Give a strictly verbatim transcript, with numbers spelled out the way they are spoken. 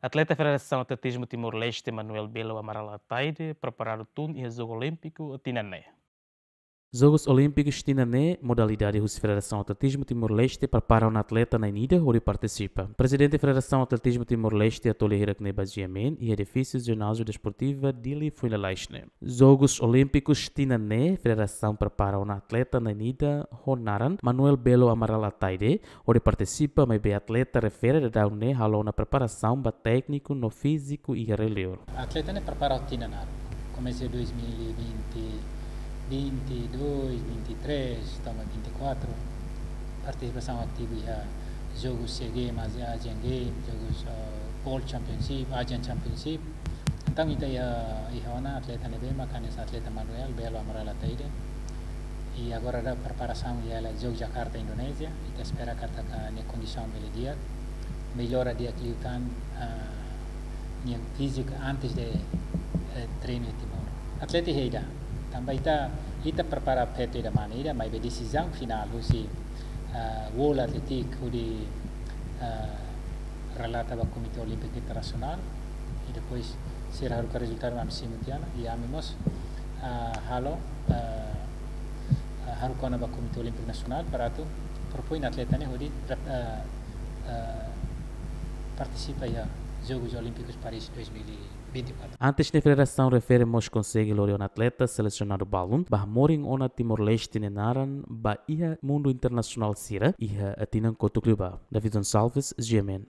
Atleta Federasaun Atletizmu Timor-Leste, Manuel Belo Amaral Ataide, preparadu tun iha Jogu Olímpiku tinan ne'e. Jogus Olímpikus tinan ne'e, modalidade husi Federasaun Atletizmu Timor-Leste prepara ona atleta na'in ida hodi partisipa. Prezidente Federasaun Atletizmu Timor-Leste, Atoli Hirak Neba Jiamen, iha edifísiu Jináziu Desportiva Dili foin lalais ne'e. Jogus Olímpikus tinan ne'e, Federasaun prepara ona atleta na'in ida ho naran Manuel Belo Amaral Ataide, hodi partisipa, maibé atleta refere daudaun ne'e halo ona preparasaun ba tékniku no fíziku iha rai-liur. Atleta ne'e prepara tinan naruk. Komesa dois mil e vinte, vinte e dois, vinte e três, to'o vinte e quatro. Partisipasaun ativu iha jogu C G, mas Asian Games, jogu, eh, World Championship, Asian Championship. Entaun ita iha, iha ona atleta ne'ebé mak hanesan atleta Manuel Belo Amaral Ataide. I agora daudaun preparasaun iha hela Jogu Jakarta, Indonézia. Ita espera katak nia kondisaun bele di'ak, mellora di'ak liután, ah, nia fíziku antes de, eh, treinu iha Timor. Atleta iha ida. Tanba ita, ita prepara feto ida mane ida, maibé desizaun finál husi, ah, World Athletic hodi, ah, relata ba Komité Olímpiku Internasionál, i depois sira haruka rezultadu ami simu tiha ona, i ami mós, ah, halo, ah, ah, haruka ona ba Komité Olímpiku Nasionál para atu propoin atleta ne'e hodi rep-, ah, ah, partisipa iha Jogus Olímpikus Paris dois mil e vinte e quatro. Antes ne'e, federasaun refere mós konsege lori ona atleta selesionadu balun ba hamorin ona Timor-Leste nia naran ba iha mundu internasionál sira iha tinan kotuk liubá. David Gonçalves, G M N.